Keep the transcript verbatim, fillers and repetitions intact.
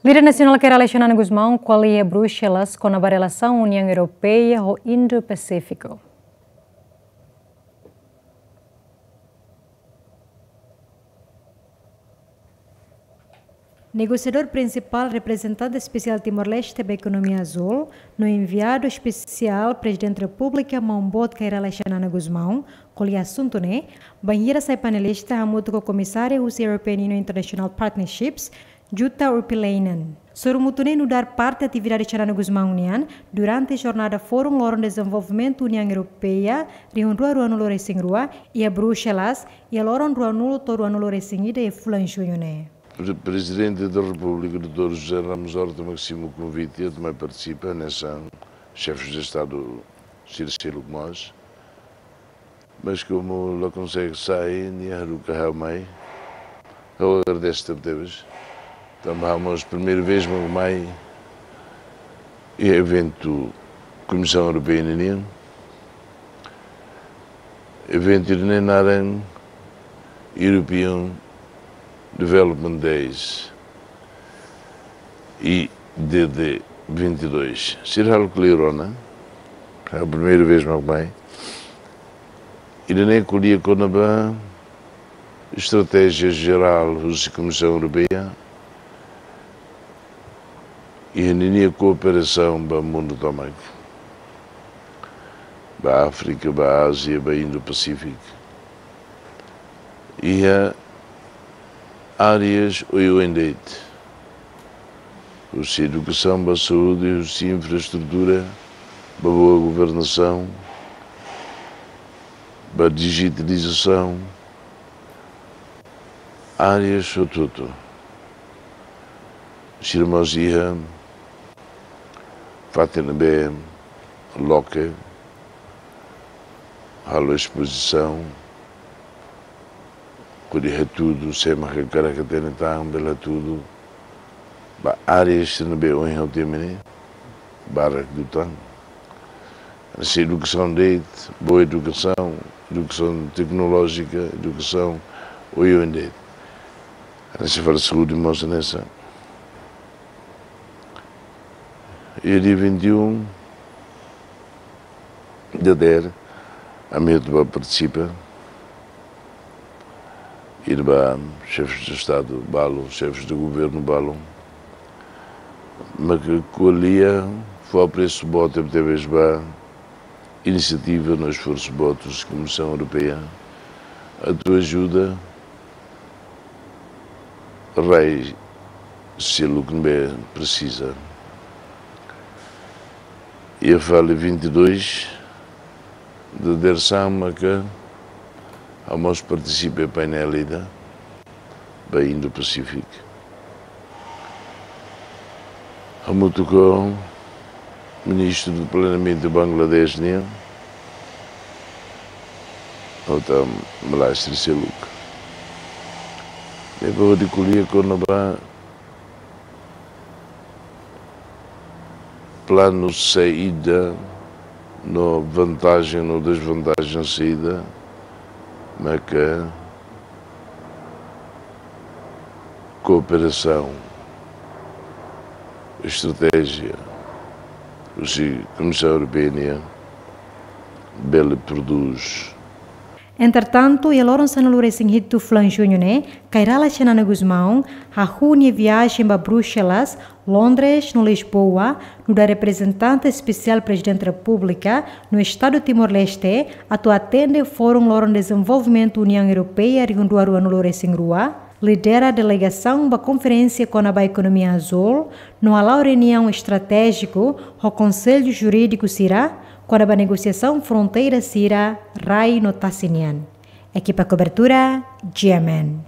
Líder nasionál Kay Rala Xanana Gusmão ko'alia Bruxelas kona-ba relasaun Uniaun Europeia ho Indo-Pasífiku. Negosiadór prinsipál reprezentante espesiál Timor-Leste ba ekonomia azúl, no enviadu espesiál Prezidente Repúblika Maun Boot Kay Rala Xanana Gusmão, ko'alia asuntu ne'e, bainhira sai panelista hamutuk ho komisáriu husi European Union International Partnerships, Jutta Urpilainen. Sorumutu ne'e nu'udar parte atividade Xanana Gusmão nian durante jornada Fórum Loron Dezenvolvimentu Uniaun Europeia rihun rua ruanulu-resin-rua iha Bruxelas, iha loron ruanulu to'o ruanulu-resin-ida iha fulan Juñu ne'e. Pre-, Prezidente da Repúblika, doutór José Ramos Horta, mak simu konvite atu mai partisipa hanesan xefes de Estadu sira seluk mós. Mas komu la konsege sai, nia haruka ha'u mai. Ha'u agradese tebetebes. Tanba ha'u mós primeira vez mak mai iha eventu Komisaun Europeia ninian. Eventu ida-ne'e naran European Development Days, E D D vinte e dois. Sira halo kleur ona, é a primeira vez mak mai. Ida-ne'e ko'alia kona-ba estratéjia jerál husi Komisaun Europeia iha ninia kooperasaun ba mundu tomak, ba Áfrika, ba Ázia, ba Indo-Pasífiku. Iha áreas oioin de'it. Husi edukasaun ba saúde, husi infraestrutura ba boa governasaun, ba dijitalizasaun, áreas hotu-hotu. Sira mós iha fatin ne'ebé loke, halo espozisaun, hodi hatudu, sé mak hakarak hatene tan, bele hatudu. Ba áreas sira ne'ebé ohin ha'u temi ne'e, barak liután. Hanesan edukasaun de'it, boa edukasaun, edukasaun teknolójika, edukasaun oioin de'it. Hanesan fali saúde mós hanesan. Iha dia vinte e um dadeer, ami atu bá partisipa, ida ba xefes de Estadu balu, xefes de governu balu, mak ko'alia, fó apresu boot tebetebes ba inisiativa no esforsu boot husi Komisaun Europeia atu ajuda rai seluk ne'ebé presiza. Iha fali vinte e dois dadeer-saan maka ha'u mós partisipa iha painel ida ba Indo-Pasífiku. Hamutuk ho Ministru do Planeamentu Bangladesh nian, ha'u tama Malaysia seluk. Depois de ko'alia kona-ba planu saída, no vantajen, no desvantajen saída, maka kooperasaun, estratéjia, husi Komisaun Europeia nian, bele prodús. Entretantu, iha loron sanulu-resin-hitu fulan Juñu ne'e, Kay Rala Xanana Gusmão hahú nia viajen ba Bruxelas, Londres no Lisboa, nu'udar reprezentante espesiál Prezidente Repúblika no Estadu Timor-Leste, atu atende Fórum Loron Dezenvolvimentu Uniaun Europeia rihun rua ruanulu-resin-rua, lidera delegasaun ba konferénsia kona-ba ekonomia azúl, no hala'o reuniaun estratéjiku ho konsellu jurídiku sira kona-ba negosiasaun fronteira sira rai no tasi nian. Ekipa kobertura, G M N.